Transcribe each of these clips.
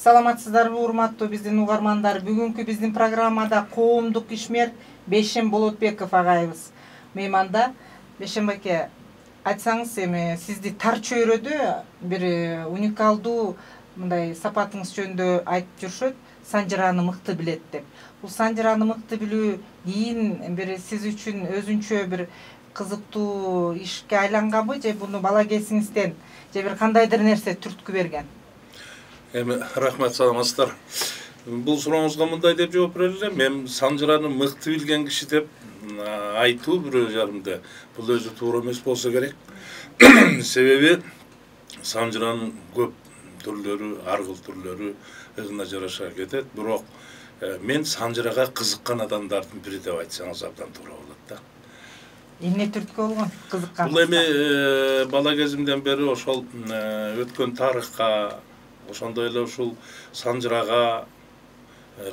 Саламатсыздарбы, урматтуу биздин угармандар. Бүгүнкү биздин программада коомдук ишмер Бейшем Болотбеков агайыбыз мейманда. Бейшем аке, айтсаңыз, эми сизди тар чөйрөдө бир уникалдуу мындай сапатыңыз жөнүндө айтып жүрүшөт. Санжыраны мыкты билет деп. Бул санжыраны мыкты билүү кийин бир сиз үчүн өзүнчө бир кызыктуу ишке айланганбы, же буну бала кезиңизден же бир кандайдыр нерсе түрткү берген? Эми рахмат, саламатсыздар. Бул сурооңузга мындай деп жооп бере элем. Мен санжыраны мыкты билген киши деп айтуу бирөө жарымда бул өзү туура эмес болсо керек. Себеби санжыранын көп түрлөрү, ар кыл түрлөрү ызына жараша кетет. Бирок мен санжырага кызыккан адамдардын бири деп айтсаңыз абдан туура болот да. Эмне түрткү болгон кызыккан? Бул эми бала кезимден бери ошол өткөн тарыхка, ошондой эле ушул санжырага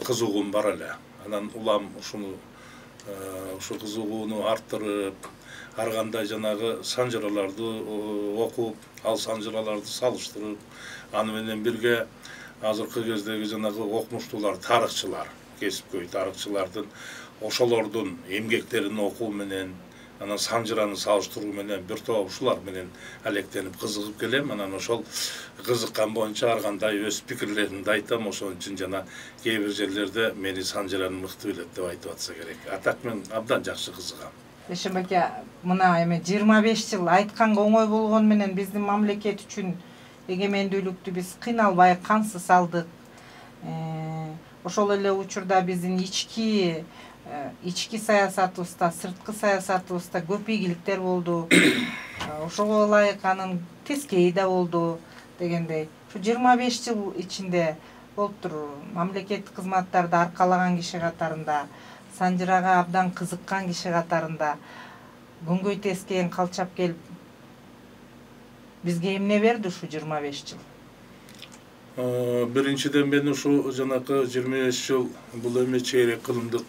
кызыгуум бар эле. Анан улам ушуну ушу кызыгууну арттырып, ар кандай жанагы санжыраларды окуп, ал санжыраларды салыштырып, аны менен бирге азыркы кездеги жанагы окумуштуулар, тарыхчылар, кесипкөй тарыхчылардын ошолордун эмгектерин окуу менен, анан санжыраны салыштыруу менен бир топ ушулар менен алектенип кызыгып келем. Анан ошол кызыккан боюнча ар кандай өз пикирлеримди айтам. Ошон үчүн жана кээ бир жерлерде мени санжыраны мыкты билет деп айтып атса керек. А так мен абдан жакшы кызыгам. Бейшем аке, мына эми 25 жыл айтканга оңой болгону менен биздин мамлекет үчүн эгемендүүлүктү биз кыйналбай кансыз алдык. Ошол эле учурда биздин ички саясатыбызда, сырткы саясатыбызда көп ийгиликтер болду. Ошого ылайык анын тескейи да болду дегендей. Ушу 25 жыл ичинде болуптур, мамлекеттик кызматтарды аркалаган киши катарында, санжырага абдан кызыккан киши катарында көңгөй тескейин калчап келип, бизге эмне берди ушу 25 жыл? Биринчиден мен ушу жанакы 25 жыл бул эми чейрек кылымдык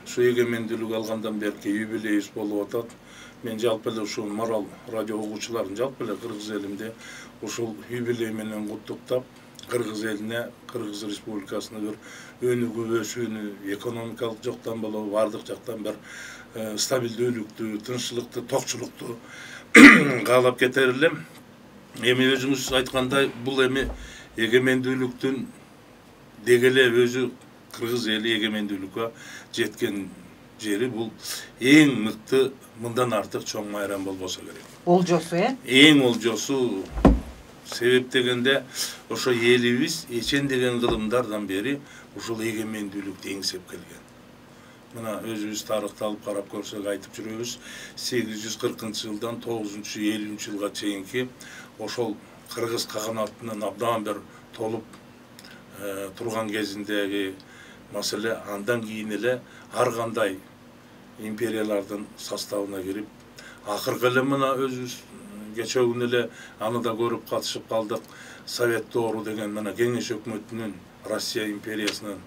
ушу эгемендүүлүк алгандан берки юбилейибиз болуп атат. Мен жалпы эле ушул Марал радио угуучуларын жалпы эле Кыргыз элимде ушул юбилей менен куттуктап, Кыргыз элине, Кыргыз Республикасына бир өнүгүү, өсүүнү, экономикалык жактан болобу, бардык жактан бир стабилдүүлүктү, тынччылыкты, токчулукту каалап кетер элем. Эми өзүңүз айткандай, бул эми эгемендүүлүктүн деги эле өзү Кыргыз эли эгемендүүлүккө жеткен жери бул эң мыкты, мындан артык чоң майрам болбосо керек. Олжосу, Эң олжосу. Себеп дегенде ошо элибиз эчен деген кылымдардан бери ушул эгемендүүлүктү эңсеп келген. Мына өзүбүз тарыхты алып карап көрсөк айтып жүрөбүз. 840-жылдан 950 жылга чейинки ошол Кыргыз каганатынын абдан бир толуп турган кезиндеги маселе, андан кийин эле ар кандай империялардын составына кирип, акыркы эле мына өзүбүз кечээ күнү эле аны да көрүп катышып калдык. Совет доору деген мына Кеңеш өкмөтүнүн, Россия империясынын,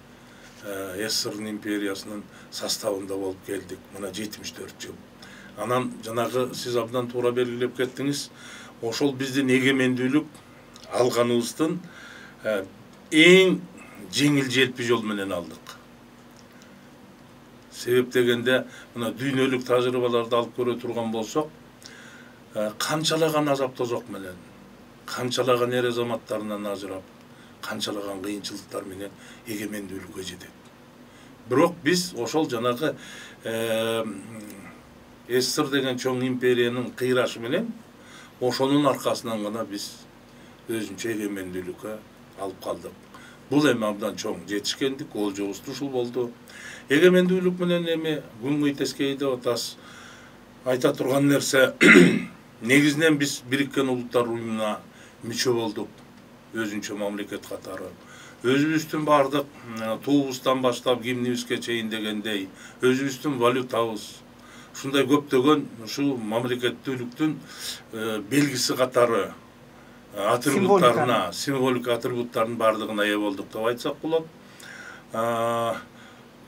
СССР империясынын составында болуп келдик. Мына 74 жыл. Анан жанагы сиз абдан туура белгилеп кеттиңиз. Ошол биздин эгемендүүлүк алганыбыздын эң жеңил желпи жол менен алдык. Себеп дегенде мына дүйнөлүк тажрыйбаларды алып көрө турган болсок, канчалаган азап тозок менен, канчалаган эр азаматтарынан ажырап, канчалаган кыйынчылыктар менен эгемендүүлүккө жетет. Бирок биз ошол жанагы СССР деген чоң империянын кыйрашы менен ошонун аркасынан гана биз өзүнчө эгемендүүлүккө алып калдык. Бул эми абдан чоң жетишкендик, олжобуз ушул болду. Эгемендүүлүк менен эми күнгөй тескей деп атабыз. Айта турган нерсе, негизинен биз Бириккен Улуттар уюмуна мүчө болдук, өзүнчө мамлекет катары. Өзүбүздүн бардык туубуздан баштап гимнибизге чейин дегендей, өзүбүздүн валютабыз, ушундай көптөгөн ушул мамлекеттүүлүктүн белгиси катары атрибуттарына, символика атрибуттарынын бардыгына ээ болдук деп айтсак болот.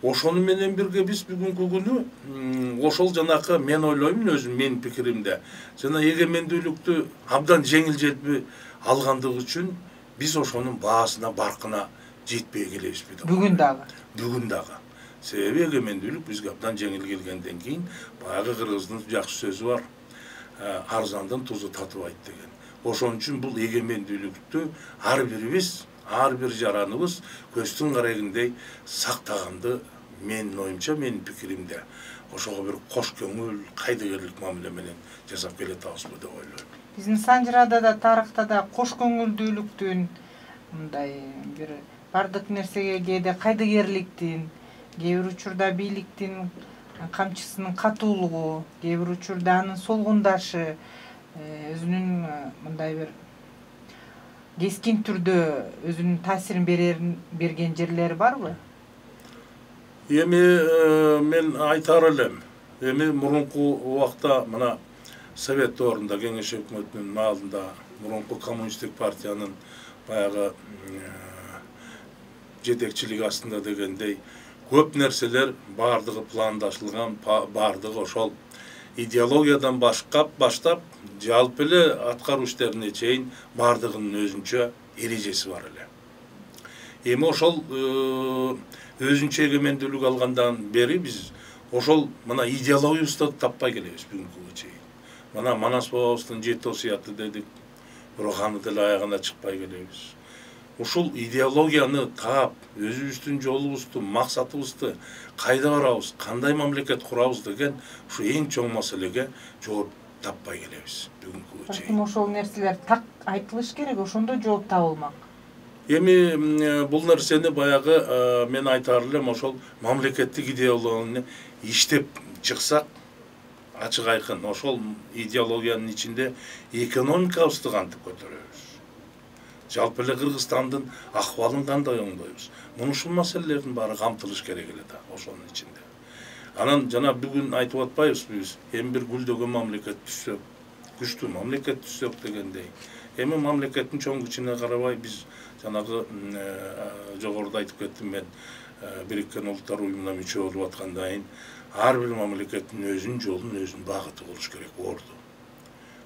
Ошону менен бирге биз бүгүнкү күнү ошол жанакы, мен ойлоймун өзүм, менин пикиримде, жана эгемендүүлүктү абдан жеңил желпи алгандыгы үчүн биз ошонун баасына баркына жетпей келебизби деп бүгүн дагы. Бүгүн дагы. Себеби эгемендүүлүк бизге абдан жеңил келгенден кийин баягы кыргыздын жакшы сөзү бар. Арзандын тузу татыбайт деген. Ошон үчүн бул эгемендүүлүктү ар бирибиз, ар бир жараныбыз көздүн карагындай сактаганды менин оюмча, менин пикиримде ошого бир кош көңүл, кайдыгерлик мамиле менен жасап келатабызбы деп ойлойм. Биздин Санжырада да тарыхта да кош көңүлдүүлүктүн, мындай бир бардык нерсеге кээде кайдыгерликтин, кээ бир учурда бийликтин камчысынын катуулугу, кээ бир учурда анын солгундашы, өзүнүн мындай бир кескин түрдө өзүнүн таасирин берген жерлери барбы? Эми мен айтар элем. Эми мурунку убакта мына Совет доорунда, кеңеш өкмөтүнүн маалында мурунку коммунисттик партиянын баягы жетекчилиги астында дегендей көп нерселер бардыгы пландашылган, бардыгы ошол идеологиядан баштап жалпы эле аткаруу иштерине чейин бардыгынын өзүнчө эрежеси бар эле. Эми ошол өзүнчө эгемендүүлүк алгандан бери биз ошол мына идеологиябызды таппай келебиз бүгүнкүгө чейин. Мына Манас бабабыздын 7 осуяты дедик, бирок аны деле аягына чыкпай келебиз. Ушул идеологияны таап, өзүбүздүн жолубузду, максатыбызды, кайда барабыз, кандай мамлекет курабыз деген ушу эң чоң маселеге жооп таппай келебиз бүгүнкүгө чейин. Ошол нерселер так айтылыш керек, ошондо жооп табылмак. Эми бул нерсени баягы мен айтар элем, ошол мамлекеттик идеологияны иштеп чыксак, ачык айкын ошол идеологиянын ичинде экономикабызды кантип көтөрөбүз, жалпы эле Кыргызстандын акыбалын кандай оңдойбуз, мына ушул маселелердин баары камтылыш керек эле да ошонун ичинде. Анан жана бүгүн айтып атпайбызбы биз, эми бир гүлдөгөн мамлекет түзсөк, күчтүү мамлекет түзсөк дегендей. Эми мамлекеттин чоң кичине карабай биз жанагы жогоруда айтып кеттим мен, Бириккен Улуттар Уюмуна мүчө болуп аткандан кийин ар бир мамлекеттин өзүнүн жолун, өзүнүн багыты болуш керек орду.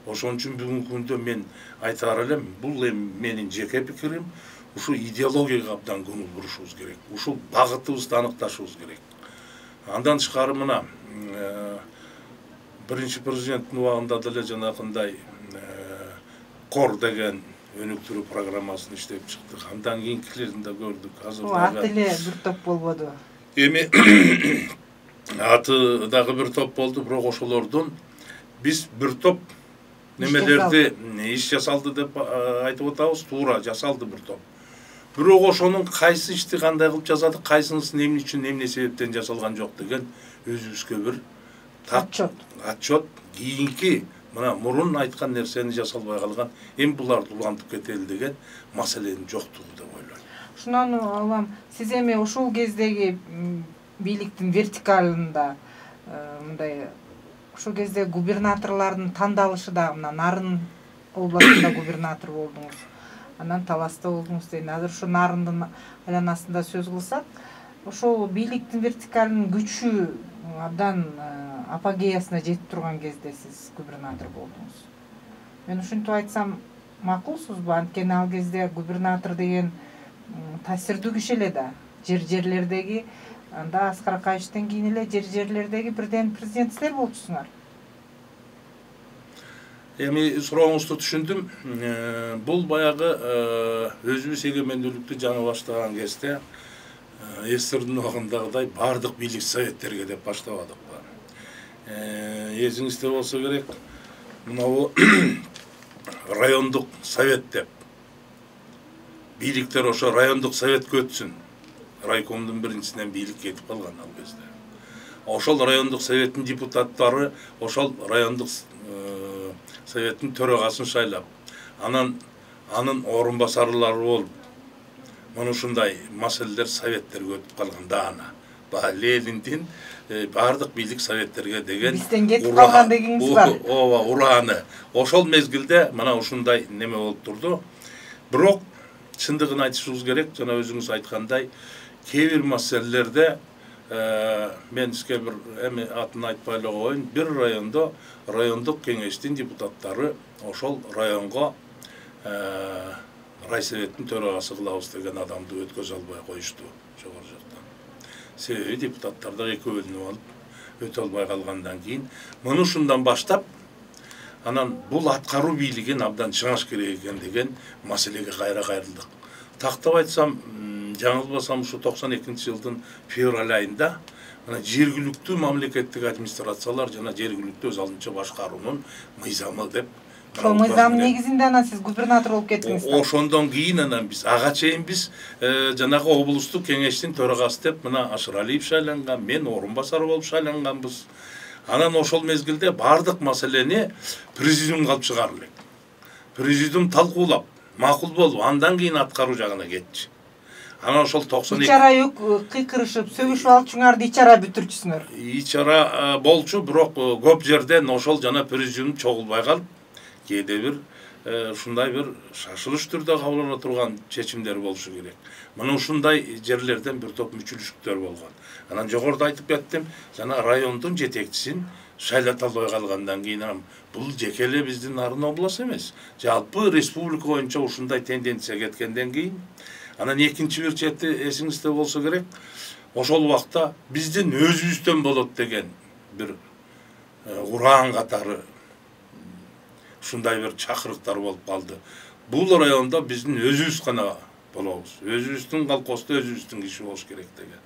Ошон үчүн бүгүнкү күндө мен айтар элем, бул эми менин жеке пикирим, ушул идеологияга абдан көңүл бурушубуз керек. Ушул багытыбызды аныкташыбыз керек. Андан тышкары мына биринчи президенттин убагында деле жанакындай кор деген өнүктүрүү программасын иштеп чыктык. Андан кийинкилерин да көрдүк. Азыр аты эле бир топ болбоду. Эми аты дагы бир топ болду, бирок ошолордун биз бир топ немелерди иш жасалды деп айтып атабыз, туура жасалды бир топ. Бирок ошонун кайсы ишти кандай кылып жасадык, кайсынысы эмне үчүн, эмне себептен жасалган жок деген өзүбүзгө бир отчет кийинки мына мурун айткан нерсени жасалбай калган, эми буларды улантып кетели деген маселенин жоктугу деп ойлойм. Ушунан улам сиз эми ушул кездеги бийликтин вертикалында мындай ошол кезде губернаторлордун тандалышы да мына Нарын областында губернатор болдуңуз, анан Таласта болдуңуз дейм. Азыр ушу Нарындын айланасында сөз кылсак, ошол бийликтин вертикалынын күчү абдан апогеясына жетип турган кезде сиз губернатор болдуңуз. Мен ушинтип айтсам макулсузбу? Анткени ал кезде губернатор деген таасирдүү киши эле да. Жерлердеги анда Аскар Акаевичтен кийин эле жерлердеги бирден президент силер болчусуңар. Эми сурооңузду түшүндүм. Бул баягы өзүбүз эгемендүүлүктү жаңы баштаган кезде СССРдин убагындагыдай бардык бийлик советтерге деп баштабадык. Эсиңизде болсо керек, мынабу райондук совет деп. Бийликтер ошо райондук советке өтсүн. Райкомдун биринчисинен бийлик кетип калган ал кезде. Ошол райондук советтин депутаттары ошол райондук советтин төрагасын шайлап, анан анын орун басарлары болуп, мына ушундай маселелер советтерге өтүп калган даана. Лениндин бардык бийлик советтерге деген бизден кетип калган дегениңиз бар. Ооба, ураны. Ошол мезгилде мына ушундай неме болуп турду. Бирок чындыгын айтышыбыз керек, жана өзүңүз айткандай, кээ бир маселелерде мен сизге бир эми атын айтпай эле коеюн, бир райондо райондук кеңештин депутаттары ошол районго райсоветтин төрагасы кылабыз деген адамды өткөзө албай коюшту жогору жактан. Себеби депутаттар да эки бөлүнүп алып өтө албай калгандан кийин муну ушундан баштап анан бул аткаруу бийлигин абдан чыңаш керек экен деген маселеге кайра кайрылдык. Тактап айтсам, жаңылбасам ушу 92-жылдын февраль айында жергиликтүү мамлекеттик администрациялар жана жергиликтүү өз алдынча башкаруунун мыйзамы деп. Ошол мыйзамдын негизинде анан сиз губернатор болуп кеттиңиз. Ошондон кийин анан биз ага чейин биз жанагы облустук кеңештин төрагасы деп мына Ашыралиев шайланган, мен орун басары болуп шайланганбыз. Анан ошол мезгилде бардык маселени президиумга алып чыгарып элек. Президиум талкуулап, макул болуп, андан кийин аткаруу жагына кетчү. Анан ошол 92 ичара кыйкырышып, сөгүшүп алчуңарды ичара бүтүрчүсүңөр. Ичара болчу, бирок көп жерден ошол жана президиум чогулбай калып, кээде бир ушундай бир шашылыш түрдө кабыл ала турган чечимдер болушу керек. Мына ушундай жерлерден бир топ мүчүлүштүктөр болгон. Анан жогоруда айтып кеттим, жана райондун жетекчисин шайлата албай калгандан кийин бул жеке эле биздин Нарын областы эмес, жалпы республика боюнча ушундай тенденция кеткенден кийин анан экинчи бир чети эсиңизде болсо керек, ошол убакта биздин өзүбүздөн болот деген бир ураан катары ушундай бир чакырыктар болуп калды. Бул районда биздин өзүбүз гана болобуз. Өзүбүздүн колхозда өзүбүздүн киши болуш керек деген.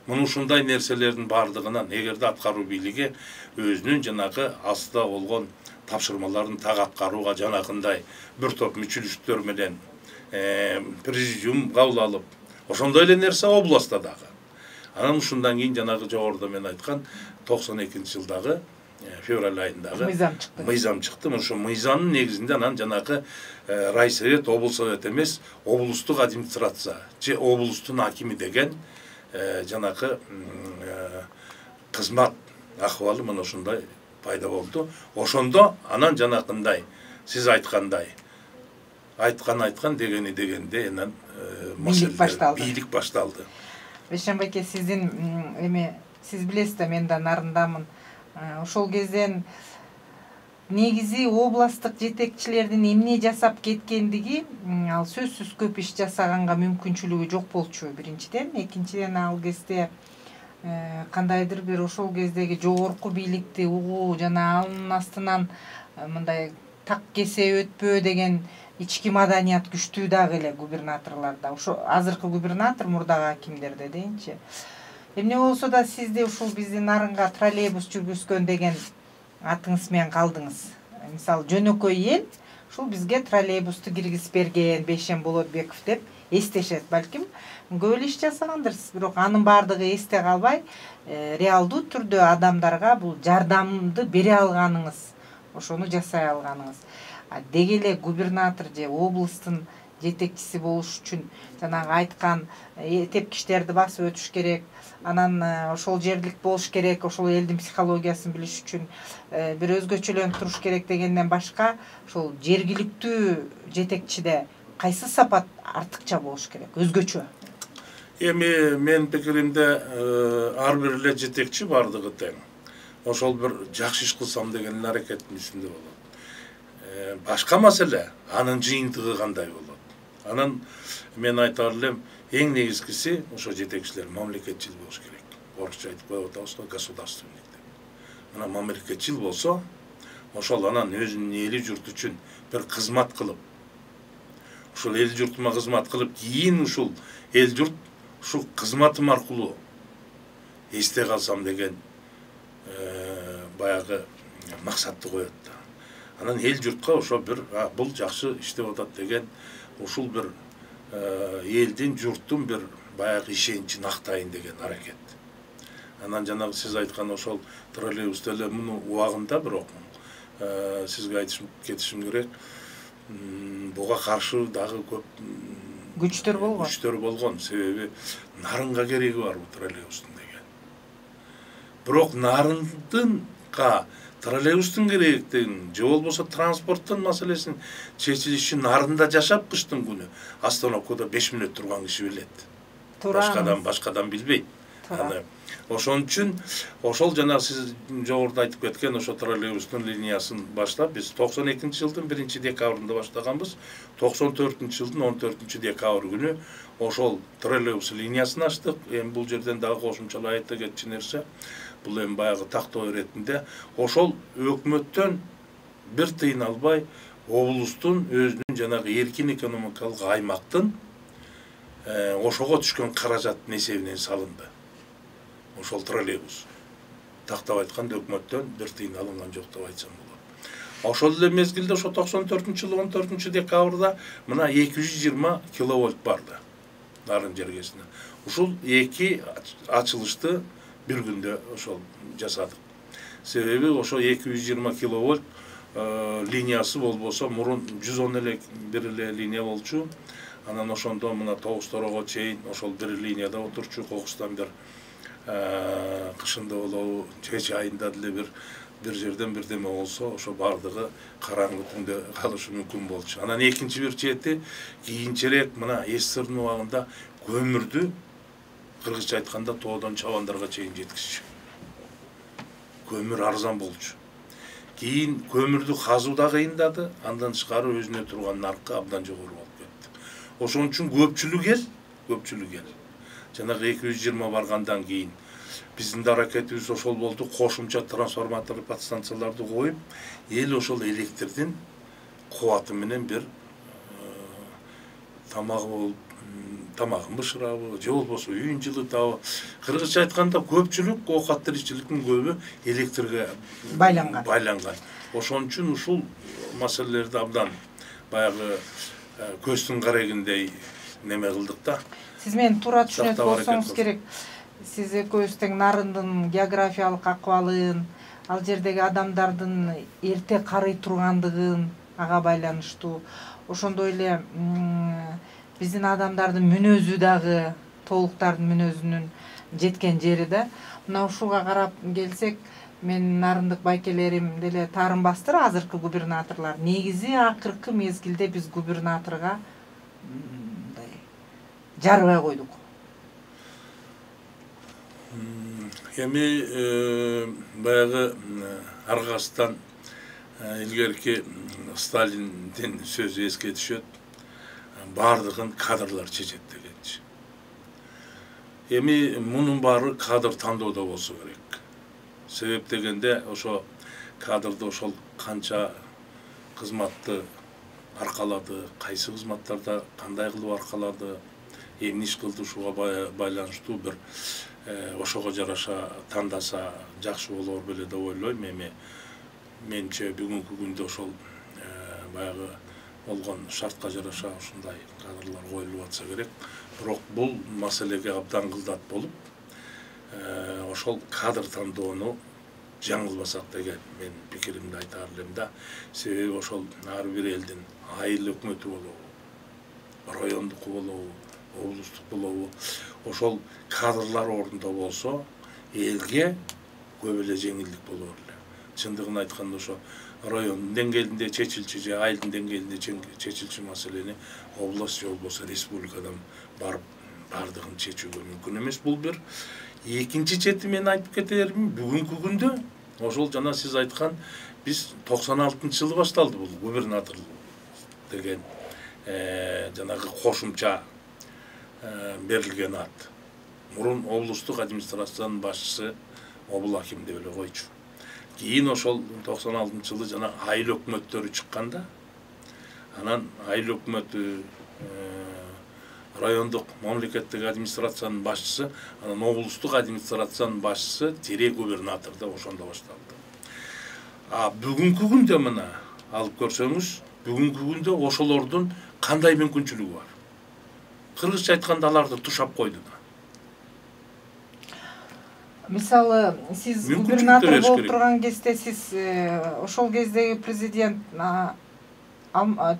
Мына ушундай нерселердин бардыгынан эгерде аткаруу бийлиги өзүнүн жанагы астында болгон тапшырмаларын так аткарууга жанакындай бир топ мүчүлүштөр менен президиум кабыл алып, ошондой эле нерсе областта дагы. Анан ушундан кийин жанагы жогоруда мен айткан 92-жылдагы февраль айындагы мыйзам чыкты. Ошо мыйзамдын негизинде анан жанагы райсовет, облсовет эмес, облустук администрация же облустун акими деген жанагы кызмат акыбалы мына ушундай пайда болду. Ошондо анан жанакындай сиз айткандай айткан дегенде анан бийлик башталды. Бейшенбай эке, сиздин сиз билесиз да, мен да Нарындамын. Ошол кезден негизи областтык жетекчилердин эмне жасап кеткендиги ал сөзсүз көп иш жасаганга мүмкүнчүлүгү жок болчу биринчиден. Экинчиден ал кезде кандайдыр бир ошол кездеги жогорку бийликти угуу жана анын астынан мындай так кесе өтпөө деген ички маданият күчтүү дагы эле губернаторлордо. Ошо азыркы губернатор, мурдагы акимдерде дейинчи. Эмне болсо да сизди ушул биздин Нарынга троллейбус жүргүзгөн деген атыңыз менен калдыңыз. Мисалы жөнөкөй эл ушул бизге троллейбусту киргизип берген Бейшен Болотбеков деп эстешет балким. Көп эле иш жасагандырсыз, бирок анын бардыгы эсте калбай, реалдуу түрдө адамдарга бул жардамды бере алганыңыз, ошону жасай алганыңыз. Деги эле губернатор же облустун жетекчиси болуш үчүн жанагы айткан тепкичтерди басып өтүш керек, анан ошол жерлик болуш керек, ошол элдин психологиясын билиш үчүн бир өзгөчөлөнүп туруш керек дегенден башка, ошол жергиликтүү жетекчиде кайсы сапат артыкча болуш керек, өзгөчө? Эми мен пикиримде ар бир эле жетекчи бардыгы тең. Ошол бир жакшы иш кылсам деген аракеттин үстүндө болот. Башка маселе анын жыйынтыгы кандай болот. Анан мен айтар элем, эң негизгиси ошо жетекчилер мамлекетчил болуш керек. Орусча айтып коюп атабыз го, государственный деп. Мына мамлекетчил болсо, ошол анан өзүнүн эли журт үчүн бир кызмат кылып, ушул эл журтума кызмат кылып, кийин ушул эл журт ушул кызматым аркылуу эсте калсам деген баягы максатты коет да. Анан эл журтка ошо бир бул жакшы иштеп атат деген ушул бир элдин, журттун бир баягы ишеничин актайын деген аракет. Анан жанагы сиз айткан ошол троллейбус деле муну убагында, бирок сизге айтып кетишим керек, буга каршы дагы көп күчтөр болгон. Себеби Нарынга кереги бар бул троллейбустун деген. Бирок Нарындынга троллейбустун керектигин же болбосо транспорттун маселесин чечилишин Нарында жашап кыштын күнү остановкада 5 мүнөт турган киши билет. Башкадан билбейт. Аны ошон үчүн ошол жана сиз жогоруда айтып кеткен ошо троллейбустун линиясын баштап биз 92-жылдын 1-декабрында баштаганбыз. 94-жылдын 14-декабрь күнү ошол троллейбус линиясын ачтык. Эми бул жерден дагы кошумчалап айта кетчү нерсе, бул эми баягы тактоо иретинде ошол өкмөттөн бир тыйын албай облустун өзүнүн жанагы эркин экономикалык аймактын ошого түшкөн каражаттын эсебинен салынды. Ошол троллейбус. Тактап айтканда өкмөттөн бир тыйын алынган жок деп айтсам болот. Ошол эле мезгилде ошо 94-жылы 14-декабрда мына 220 киловольт барды Нарын жергесине. Ушул эки ачылышты бир күндө ошол жасадык. Себеби ошо 220 киловольт линиясы болбосо мурун 110 эле бир эле линия болчу. Анан ошондо мына Тогуз-Торого чейин ошол бир линияда отурчу. Кокустан бир кышында болобу, чечи айында деле бир жерден бирдеме болсо, ошо бардыгы караңгы түндө калышы мүмкүн болчу. Анан экинчи бир чети кийинчерээк мына СССРдын убагында көмүрдү кыргызча айтканда тоодон чабандарга чейин жеткизчү. Көмүр арзан болчу. Кийин көмүрдү казуу да кыйындады, андан тышкары өзүнө турган наркы абдан жогору болуп кетти. Ошон үчүн көпчүлүк эл жанагы 220 баргандан кийин биздин да аракетибиз ошол болду. Кошумча трансформатор подстанцияларды коюп, эл ошол электрдин кубаты менен бир тамагын бышырабы, же болбосо үйүн жылытабы. Кыргызча айтканда көпчүлүк оокат тиричиликтин көбү электрге байланган. Ошон үчүн ушул маселелерди абдан баягы көздүн карегиндей неме кылдык да. Сиз мени туура түшүнөт болсоңуз керек. Сиз экөөбүз тең Нарындын географиялык акыбалын, ал жердеги адамдардын эрте карый тургандыгын ага байланыштуу. Ошондой эле биздин адамдардын мүнөзү дагы тоолуктардын мүнөзүнүн жеткен жери да. Мына ушуга карап келсек, мен нарындык байкелерим деле таарынбастыр азыркы губернаторлор. Негизи акыркы мезгилде биз губернаторго жарыбай койдук. Эми баягы аргасынан илгерки Сталиндин сөзү эске түшөт. Бардыгын кадрлар чечет дегенчи. Эми мунун баары кадр тандоодо болсо керек. Себеп дегенде ошо кадрды ошол канча кызматты аркалады, кайсы кызматтарда кандай кылып аркалады, эмне иш кылды, ушуга байланыштуу бир ошого жараша тандаса жакшы болор беле деп ойлойм. Эми менимче бүгүнкү күндө ошол баягы болгон шартка жараша ушундай кадрлар коюлуп атса керек. Бирок бул маселеге абдан кылдат болуп, ошол кадр тандоону жаңылбасак деген мен пикиримди айтаар элем да. Себеби ошол ар бир элдин айыл өкмөтү болобу, райондуку болобу, облустук болобу, ошол кадрлар ордунда болсо, элге көп эле жеңилдик болор эле. Чындыгын айтканда ошо райондун деңгээлинде чечилчү же айылдын деңгээлинде чечилчү маселени область же болбосо республикадан барып бардыгын чечүүгө мүмкүн эмес. Бул бир. Экинчи чети мен айтып кетерим, бүгүнкү күндө ошол жана сиз айткан биз 96-жылы башталды бул губернатор деген жанагы кошумча берилген ат. Мурун облустук администрациянын башчысы обул аким деп эле койчу. Кийин ошол 96-жылы жана айыл өкмөттөрү чыкканда, анан айыл өкмөтү, райондук мамлекеттик администрациянын башчысы, анан облустук администрациянын башчысы тире губернатор деп ошондо башталды. Бүгүнкү күндө мына алып көрсөңүз, бүгүнкү күндө ошолордун кандай мүмкүнчүлүгү бар? Кыргызча айтканда аларды тушап койду да. Мисалы, сиз губернатор болуп турган кезде сиз ошол кездеги президент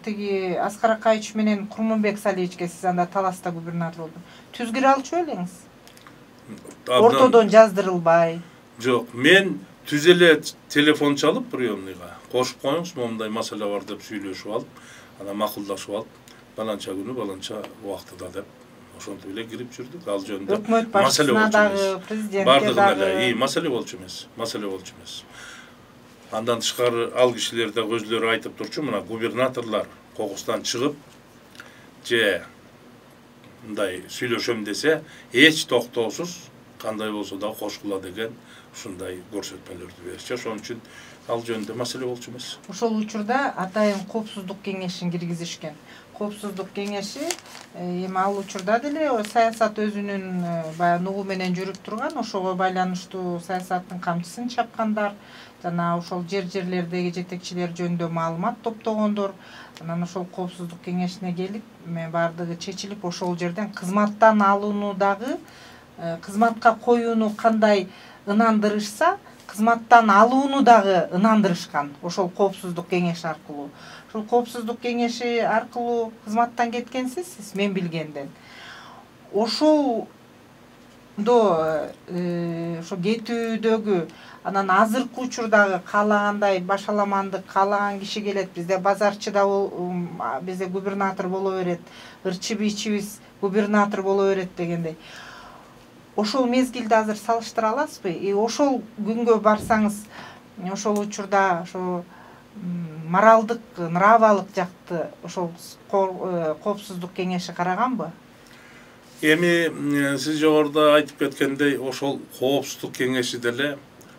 тиги Аскар Акаевич менен Курманбек Салиевичке сиз анда таласта губернатор болдуңуз. Түз кире алчу элеңиз? Ортодон жаздырылбай. Жок, мен түз эле телефон чалып приемныйга кошуп коюңуз, момундай маселе бар деп сүйлөшүп алып, анан макулдашып алып, баланча күнү баланча убактыда деп ошентип эле кирип жүрдүк. Ал жөнүндө өкмөт башчысына дагы, президентке бардыгына дагы эле маселе болчу эмес. Андан тышкары ал кишилер да өзлөрү айтып турчу, мына губернаторлор кокустан чыгып же мындай сүйлөшөм десе, эч токтоосуз кандай болсо да кошкула деген ушундай көрсөтмөлөрдү беришчи. Ошон үчүн ал жөнүндө маселе болчу эмес. Ошол учурда атайын коопсуздук кеңешин киргизишкен. Коопсуздук кеңеши эми ал учурда деле саясат өзүнүн баягы нугу менен жүрүп турган, ошого байланыштуу саясаттын камчысын чапкандар, жана ошол жерлердеги жетекчилер жөнүндө маалымат топтогондор. Анан ошол коопсуздук кеңешине келип, бардыгы чечилип, ошол жерден кызматтан алууну дагы, кызматка коюуну кандай ынандырышса, кызматтан алууну дагы ынандырышкан ошол коопсуздук кеңеши аркылуу. Ошол коопсуздук кеңеши аркылуу кызматтан кеткенсиз, сиз мен билгенден. Ошолдо ошо кетүүдөгү анан азыркы учурдагы каалагандай башаламандык каалаган киши келет, бизде базарчы да бизде губернатор боло берет, ырчы бийчибиз губернатор боло берет дегендей. Ошол мезгилди азыр салыштыра аласызбы? Ошол күнгө барсаңыз, ошол учурда ошо моралдык, нравалык жакты ошол коопсуздук кеңеши караганбы? Эми сиз жогоруда айтып кеткендей, ошол коопсуздук кеңеши деле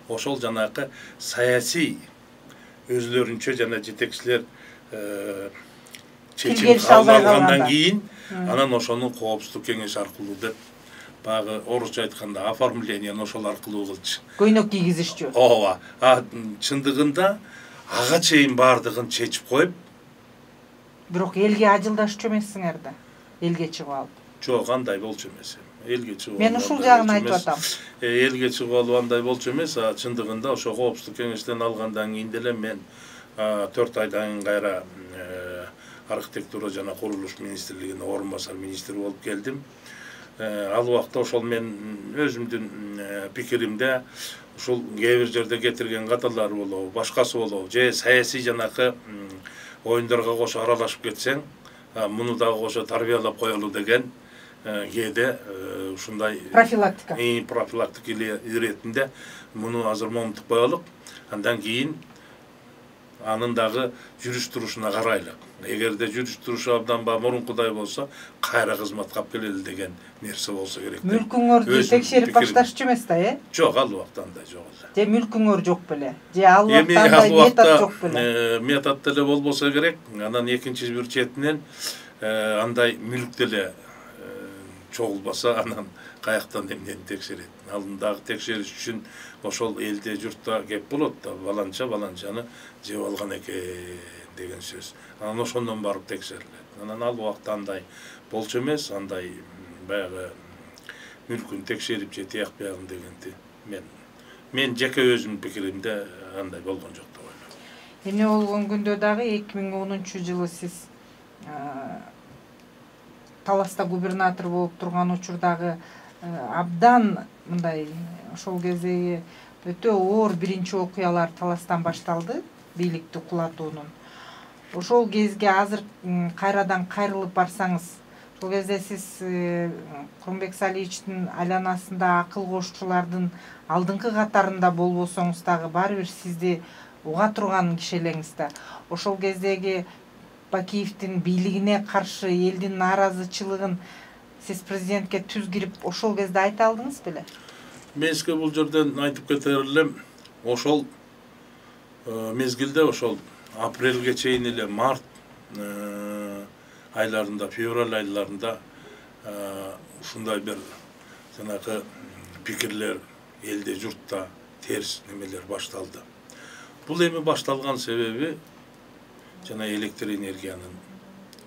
ошол жанакы саясий өзлөрүнчө жана жетекчилер чечим кабыл алгандан кийин анан ошону коопсуздук кеңеши аркылуу деп баягы орусча айтканда оформлениени ошол аркылуу кылчу. Көйнөк кийгизишчү. Ооба. Чындыгында ага чейин бардыгын чечип коюп. Бирок элге ажылдашчу эмессиңер да. Элге чыгып алып. Жок, андай болчу эмес. Элге чыгып. Мен ушул жагын айтып атам. Элге чыгып алуу андай болчу эмес, чындыгында ошо коопсуздук кеңештен алгандан кийин деле мен 4 айдан кайра архитектура жана курулуш министрлигине орун басар министр болуп келдим. Ал убакта ошол мен өзүмдүн пикиримде ушул кээ бир жерде кетирген каталар болобу, башкасы болобу, же саясий жанакы оюндарга кошо аралашып кетсең, муну дагы кошо тарбиялап коелу деген кээде ушундай профилактика иретинде муну азыр момунтуп коелук, андан кийин анын дагы жүрүш турушуна карайлык. Эгерде жүрүш турушу абдан мурункудай болсо, кайра кызматка алып келели деген нерсе болсо керек. Мүлкүңөрдү текшерип башташчу эмес да, Жок, ал убакта андай жок эле. Же мүлкүңөр жок беле? Же ал убакта андай метод жок беле? Метод деле болбосо керек. Анан экинчи бир четинен андай мүлк деле чогулбаса, анан каяктан эмнени текшерет. Ал дагы текшериш үчүн ошол элде журтта кеп болот да, баланчаны жеп алган экен деген сөз. Анан ошондон барып текшерилет. Анан ал убакта андай болчу эмес, андай баягы мүлкүн текшерип же тияк биягын дегенди мен жеке өзүмдүн пикиримде андай болгон жок деп ойлойм. Эмне болгон күндө дагы 2010-жылы сиз Таласта губернатор болуп турган учурдагы абдан мындай ошол кездеги өтө оор биринчи окуялар Таластан башталды, бийликти кулатуунун. Ошол кезге азыр кайрадан кайрылып барсаңыз, ошол кезде сиз Курманбек Салиевичтин айланасында акыл кошчулардын алдыңкы катарында болбосоңуз дагы баары бир сизди уга турган киши элеңиз да. Ошол кездеги Бакиевдин бийлигине каршы элдин нааразычылыгын сиз президентке түз кирип ошол кезде айта алдыңыз беле? Мен сизге бул жерден айтып кетер элем, ошол мезгилде ошол апрелге чейин эле март айларында, февраль айларында ушундай бир жанакы пикирлер элде журтта терс немелер башталды. Бул эми башталган себеби жана электр энергиянын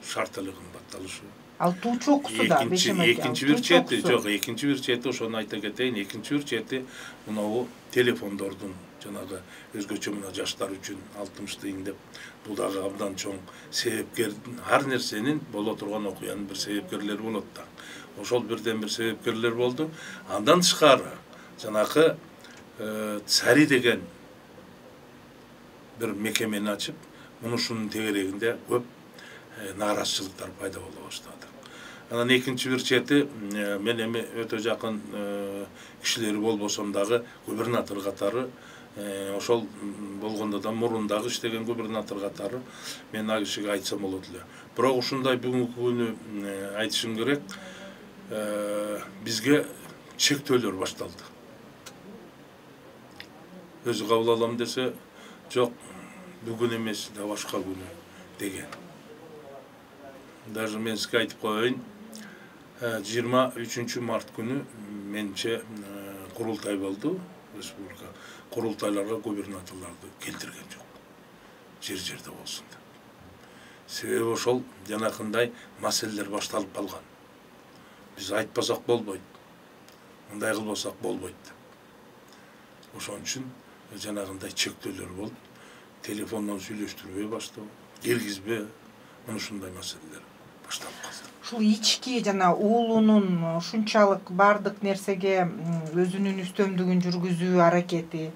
шарттуулугу кымбатталышы. Ал туучу окусу да, экинчи бир чети, жок, экинчи бир чети ошону айта кетейин, экинчи бир чети мынабу телефондордун жанагы өзгөчө мына жаштар үчүн 60 тыйын деп, бул дагы абдан чоң себепкер, ар нерсенин боло турган окуянын бир себепкерлери болот да. Ошол бирден бир себепкерлер болду. Андан тышкары жанакы Цари деген бир мекемени ачып, мунушунун тегерегинде көп нааразычылыктар пайда боло баштады. Анан экинчи бир чети мен эми өтө жакын кишилери болбосом дагы губернатор катары ошол болгондо да мурун дагы иштеген губернатор катары мен ал кишиге айтсам болот эле. Бирок ушундай бүгүнкү күнү айтышым керек, бизге чектөөлөр башталды. Өзү кабыл алам десе, жок, бүгүн эмес, да башка күнү деген. Даже мен сизге айтып коеюн, 23 март күнү менче курултай болду, республика. Курултайларга губернаторлорду келтирген жок. Жер-жерде болсун деп. Себеби ошол жанакындай маселелер башталып калган. Биз айтпасак болбойт. Мындай кылбасак болбойт деп. Ошон үчүн жанагындай чектөөлөр болуп, телефондон сүйлөштүрбөй баштоо, киргизбе, мына ушундай маселелер башталып калды. Ушул ички жана уулунун ушунчалык бардык нерсеге өзүнүн үстөмдүгүн жүргүзүү аракети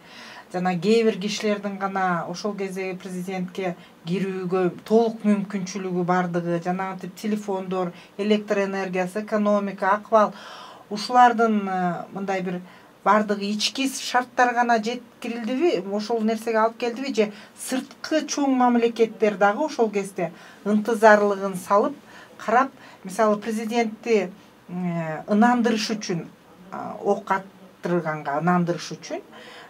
жана кээ бир кишилердин гана ошол кездеги президентке кирүүгө толук мүмкүнчүлүгү бардыгы, жанагынтип телефондор, электр энергиясы, экономика, акыбал ушулардын мындай бир бардыгы ички шарттар гана жеткирилдиби, ошол нерсеге алып келдиби же сырткы чоң мамлекеттер дагы ошол кезде ынтызарлыгын салып карап, мисалы президентти ынандырыш үчүн, ок аттырганга ынандырыш үчүн,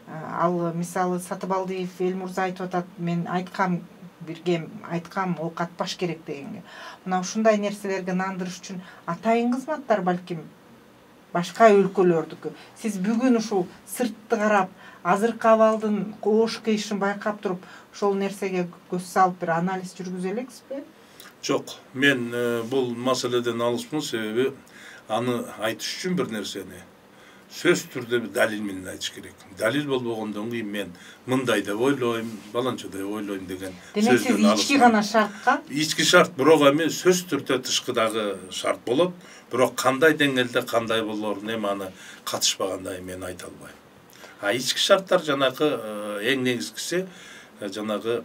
ал мисалы Сатыбалдиев Элмурза айтып атат, мен айткам, бирге айткам, ок атпаш керек дегенге. Мына ушундай нерселерге ынандырыш үчүн атайын кызматтар балким башка өлкөлөрдүкү. Сиз бүгүн ушул сыртты карап, азыркы абалдын коош кыйышын байкап туруп, ошол нерсеге көз салып бир анализ жүргүзө элексизби? Жок, мен бул маселеден алыспын, себеби аны айтыш үчүн бир нерсени сөз түрдө бир далил менен айтыш керек. Далил болбогондон кийин мен мындай деп ойлойм, баланча деп ойлойм деген сөздөн алыспын. Демек сиз ички гана шартка? Ички шарт, бирок эми сөз түрдө тышкыдагы шарт болот. Бирок кандай деңгээлде кандай болорун эми аны катышпагандай мен айта албайм. Ички шарттар жанагы эң негизгиси жанагы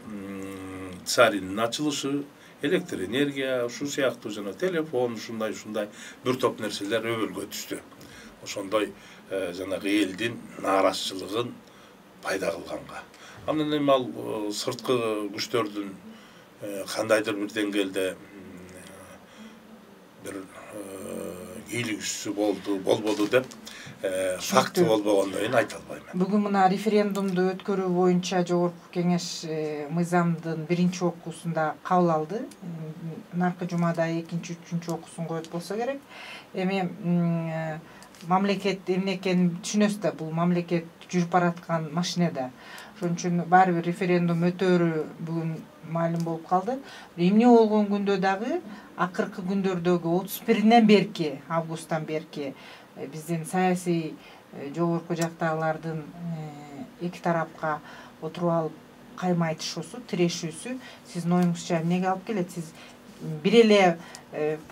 царинин ачылышы, электр энергия, ушул сыяктуу жана телефон, ушундай бир топ нерселер өбөлгө түштү. Ошондой жанагы элдин нааразычылыгын пайда кылганга. Анан эми ал сырткы күчтөрдүн кандайдыр бир деңгээлде бир ийгилигүүсү болбоду деп факты болбогондон кийин айта албайм. Бүгүн мына референдумду өткөрүү боюнча Жогорку Кеңеш мыйзамдын биринчи окуусунда кабыл алды. Наркы жумада экинчи, үчүнчү окуусун коет болсо керек. Эми мамлекет эмне экенин түшүнөсүз да, бул мамлекет жүрүп бараткан машинеде. Ошон үчүн баары бир референдум өтөөрү бүгүн маалым болуп калды. Эмне болгон күндө дагы акыркы күндөрдөгү 31-нен берки, августтан берки биздин саясий жогорку жактагылардын эки тарапка отуруп алып кайма айтышуусу, тирешүүсү сиздин оюңузча эмнеге алып келет? Сиз бир эле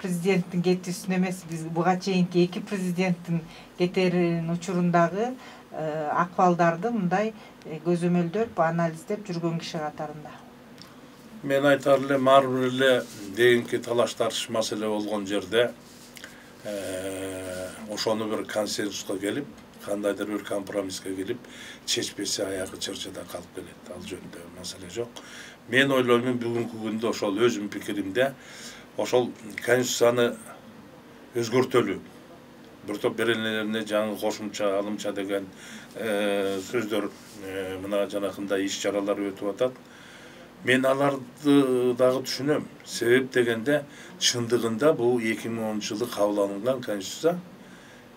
президенттин кетүүсүн эмес, биз буга чейинки эки президенттин кетеринин учурундагы акыбалдарды мындай көзөмөлдөп, анализдеп жүргөн киши катарында. Мен айтар элем, ар бир эле дегенки талаш тартыш маселе болгон жерде ошону бир консенсуска келип, кандайдыр бир компромисске келип, чечпесе аягы чырчыда калып келет. Ал жөнүндө маселе жок. Мен ойлойм, бүгүнкү күндө ошол өзүм пикиримде ошол конституцияны өзгөртөлү, бир топ беренелерине жаңы кошумча, алымча деген сөздөр мына жанакындай иш-чаралар өтүп атат. Мен аларды дагы түшүнөм. Себеп дегенде чындыгында бул 2010 жылы кабыл алынган конституция,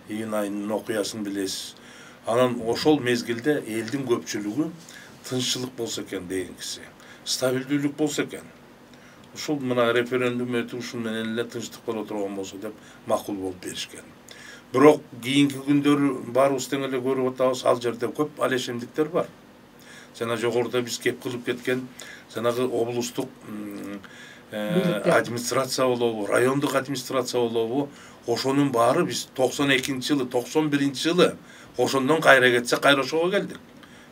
июнь айынын окуясын билесиз. Анан ошол мезгилде элдин көпчүлүгү тынччылык болсо экен дегенкиси, стабилдүүлүк болсо экен. Ушул мына референдум өтүп ушун менен эле тынчтык боло турган болсо деп макул болуп беришкен. Бирок кийинки күндөрү баарыбыз тең эле көрүп атабыз, ал жерде көп алешемдиктер бар. Жана жогоруда биз кеп кылып кеткен жанагы облустук администрация болобу, райондук администрация болобу, ошонун баары биз 92 жылы, 91 жылы ошондон кайра кетсе кайра ошого келдик.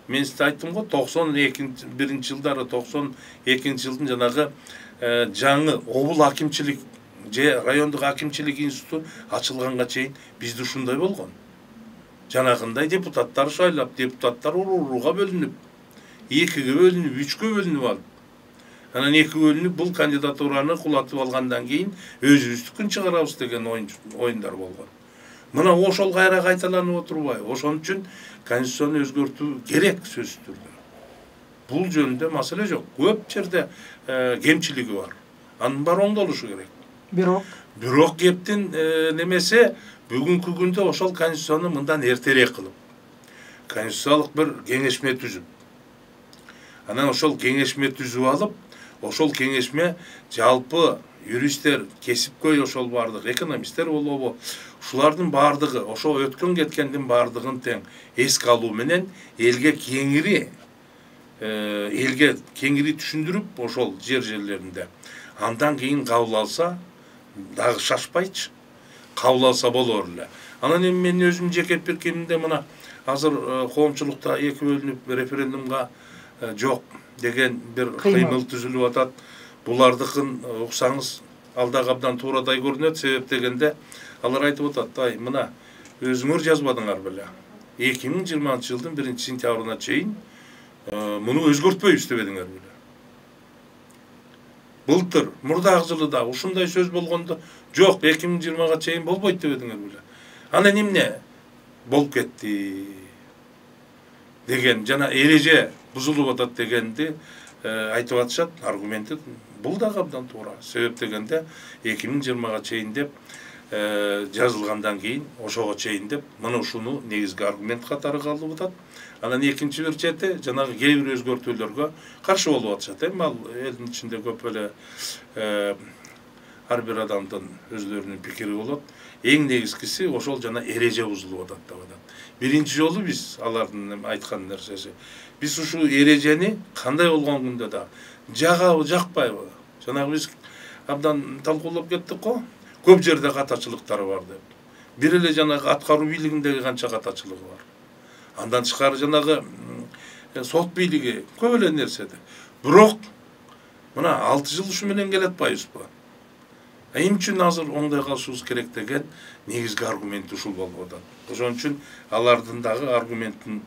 Мен сизге айттым го, 91 жылдары, 92 жылдын жанагы жаңы обул акимчилик же райондук акимчилик институту ачылганга чейин бизде ушундай болгон. Жанагындай депутаттар шайлап, депутаттар урууга бөлүнүп, 2-ге бөлүнүп, 3-кө бөлүнүп алып. Анан 2 бөлүнүп бул кандидатураны кулатып алгандан кийин өзүбүздүкүн чыгарабыз деген оюндар болгон. Мына ошол кайра кайталанып отурбайбы? Ошон үчүн конституцияны өзгөртүү керек сөзсүз түрдө. Бул жөнүндө маселе жок. Көп жерде кемчилиги бар. Анын баары оңдолушу керек. Бирок кептин немесе бүгүнкү күндө ошол конституцияны мындан эртерээк кылып, конституциялык бир кеңешме түзүп, анан ошол кеңешме түзүп алып, ошол кеңешме жалпы юристтер, кесипкөй ошол бардык экономисттер болобу, ушулардын бардыгы, ошо өткөн кеткендин бардыгын тең эске алуу менен элге кеңири түшүндүрүп ошол жерлеринде андан кийин кабыл алса дагы шашпайчы кабыл алса болор эле. Анан эми мен өзүм жеке пикиримде мына азыр коомчулукта 2 бөлүнүп референдумга жок деген бир кыймыл түзүлүп атат. Булардыкын уксаңыз алдагы абдан туурадай көрүнөт. Себеп дегенде алар айтып атат, ай мына өзүңөр жазбадыңар беле. 2020-жылдын 1-сентябрына чейин муну өзгөртпөйбүз дебедиңер беле. Былтыр, мурдагы жылы да ушундай сөз болгондо, жок 2020-га чейин болбойт дебедиңер беле. Анан эмне болуп кетти деген жана эреже бузулуп атат дегенди айтып атышат. Аргументи бул дагы абдан туура. Себеп дегенде 2020-га чейин деп жазылгандан кийин ошого чейин деп мына ушуну негизги аргумент катары калып атат. Анан экинчи бир чети жанагы кээ бир өзгөртүүлөргө каршы болуп атышат. Эми ал элдин ичинде көп эле ар бир адамдын өзлөрүнүн пикири болот. Эң негизгиси ошол жана эреже бузулуп атат деп атат. Биринчи жолу биз алардын айткан нерсеси, биз ушу эрежени кандай болгон күндө да жагабы, жакпайбы? Жанагы биз абдан талкуулап кеттик го. Көп жерде катачылыктар бар деп. Бир эле жанагы аткаруу бийлигиндеги канча катачылыгы бар. Андан тышкары жанагы сот бийлиги көп эле нерседе. Бирок мына 6 жыл ушу менен келе атпайбызбы? Эмне үчүн азыр оңдой калышыбыз керек деген негизги аргумент ушул болуп атат. Ошон үчүн алардын дагы аргументин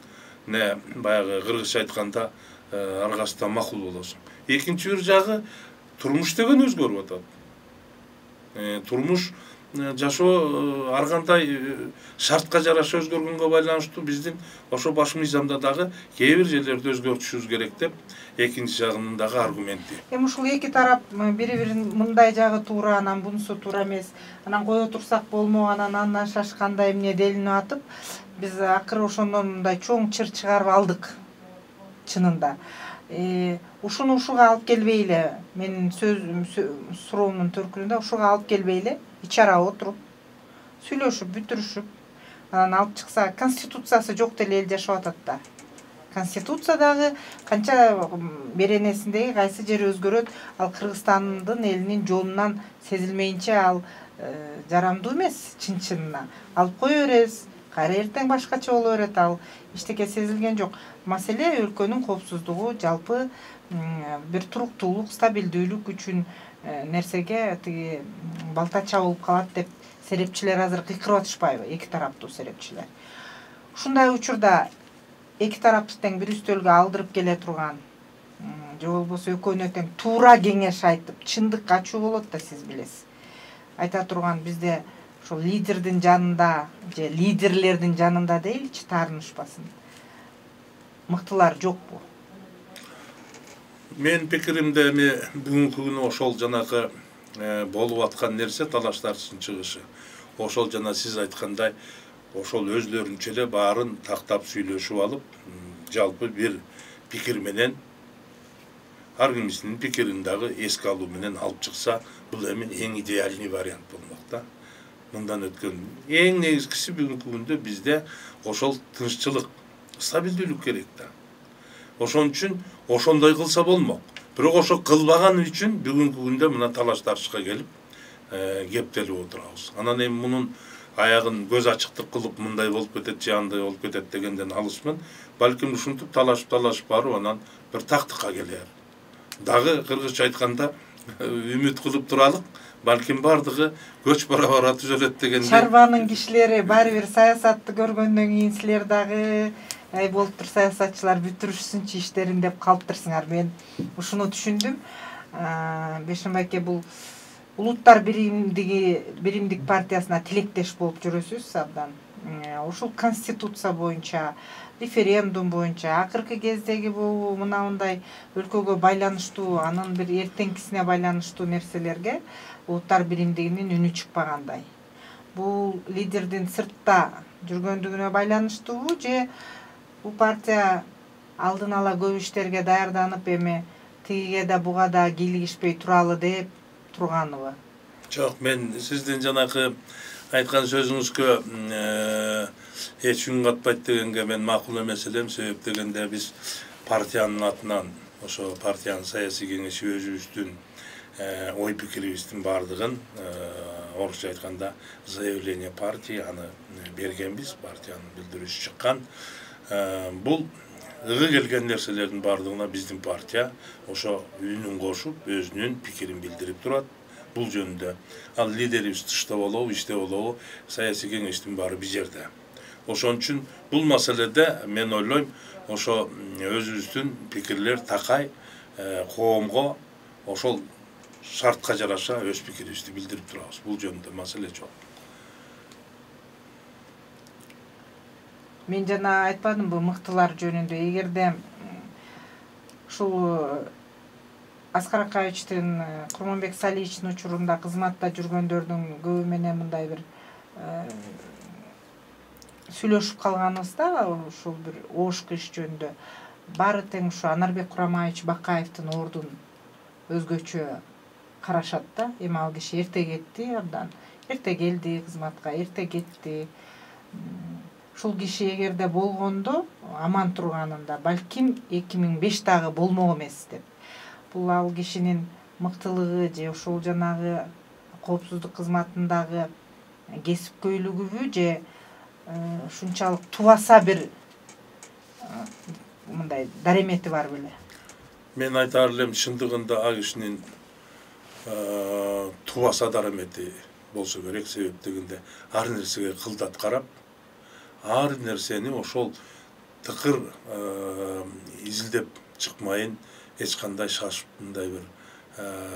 баягы кыргызча айтканда аргасынан макул болосуң. Экинчи бир жагы турмуш деген өзгөрүп атат. Турмуш жашоо ар кандай шартка жараша өзгөргөнгө байланыштуу биздин ошо баш мыйзамда дагы кээ бир жерлерди өзгөртүшүбүз керек деп экинчи жагынын дагы аргументи. Эми ушул эки тарап бири-бирин мындай жагы туура, анан бунусу туура эмес, анан кое турсак болмок, андан шашкандай эмне делинип атып, биз акыры ошондон мындай чоң чыр чыгарып алдык чынында. Ушуну ушуга алып келбейли, менин суроомдун төркүнүндө ушуга алып келбейли, ич ара отуруп, сүйлөшүп, бүтүрүшүп, анан алып чыкса, конституциясы жок деле эл жашап атат да. Конституция дагы канча беренесиндеги кайсы жери өзгөрөт, ал Кыргызстандын элинин жонунан сезилмейинче ал жарамдуу эмес чын-чынына. Алып кое беребиз, кайра эртең башкача боло берет, ал эчтеке сезилген жок. Маселе өлкөнүн коопсуздугу, жалпы бир туруктуулук, стабилдүүлүк үчүн нерсеге тиги балта чабылып калат деп серепчилер азыр кыйкырып атышпайбы, эки тараптуу серепчилер. Ушундай учурда эки тарапты тең бир үстөлгө алдырып келе турган, же болбосо экөөнө тең туура кеңеш айтып, чындык ачуу болот да, сиз билесиз. Айта турган бизде ошол лидердин жанында же лидерлердин жанында дейли таарынышпасын. Мыктылар жокпу? Мен пикиримде эми бүгүнкү күнү ошол жанагы болуп аткан нерсе талаштардын чыгышы. Ошол жана сиз айткандай ошол өзлөрүнчө эле баарын тактап сүйлөшүп алып, жалпы бир пикир менен ар кимисинин пикирин дагы эске алуу менен алып чыкса, бул эми эң идеальный вариант болмок да. Мындан өткөн эң негизгиси бүгүнкү күндө бизде ошол тынччылык, стабилдүүлүк керек да. Ошон үчүн ошондой кылса болмок. Бирок ошо кылбаганы үчүн бүгүнкү күндө мына талаш-тартышка келип кептелип отурабыз. Анан эми мунун аягын көз ачыктык кылып мындай болуп кетет же андай болуп кетет дегенден алысмын. Балким ушинтип талашып барып анан бир тактыкка келер. Дагы кыргызча айтканда үмүт кылып туралык, балким бардыгы көч бара түзөлөт дегенде. Чарбанын кишилери баары бир саясатты көргөндөн кийин силер дагы болуптур саясатчылар бүтүрүшсүнчү иштерин деп калыптырсыңар. Мен ушуну түшүндүм. Бейшенбай бул Улуттар биримдик партиясына тилектеш болуп жүрөсүз абдан. Ушул конституция боюнча, референдум боюнча, акыркы кездеги бул мындай өлкөгө байланыштуу, анын бир эртеңкисине байланыштуу нерселерге улуттар биримдигинин үнү чыкпагандай. Бул лидердин сыртта жүргөндүгүнө байланыштуубу же бул партия алдын ала көп иштерге даярданып эми тигиге да буга да кийлигишпей туралы деп турганыбы? Жок, мен сиздин жанакы айткан сөзүңүзгө эч үн катпайт дегенге мен макул эмес элем. Себеп дегенде биз партиянын атынан, ошо партиянын саясий кеңеши өзүбүздүн ой пикирибиздин бардыгын орусча айтканда заявление партии аны бергенбиз, партиянын билдирүүсү чыккан. Бул ыгы келген нерселердин бардыгына биздин партия ошо үнүн кошуп, өзүнүн пикирин билдирип турат. Бул жөнүндө ал лидерибиз тышта болобу, иште болобу, саясий кеңештин баары биз жерде. Ошон үчүн бул маселеде мен ойлойм, ошо өзүбүздүн пикирлер такай, коомго ошол шартка жараша өз пикирибизди билдирип турабыз. Бул жөнүндө маселе жок. Мен жана айтпадымбы мыктылар жөнүндө. Эгерде ушул Аскар Акаевичтин, Курманбек Салиевичтин учурунда кызматта жүргөндөрдүн көбү менен мындай бир сүйлөшүп калганыбызда, ушул бир ошко иш жөнүндө баары тең ушу Анарбек Курамаевич Бакаевдин ордун өзгөчө карашат да. Эми ал киши эрте кетти, абдан эрте келди кызматка, эрте кетти. Ушул киши эгерде болгондо аман турганында балким 2005 дагы болмок эмес деп. Бул ал кишинин мыктылыгы же ушул жанагы коопсуздук кызматындагы кесипкөйлүгүбү же ушунчалык тубаса бир мындай даремети бар беле? Мен айтаар элем, чындыгында ал кишинин тубаса даремети болсо керек. Себеп дегенде ар нерсеге кылдат карап, ар нерсени ошол тыкыр изилдеп чыкмайын эч кандай шашып мындай бир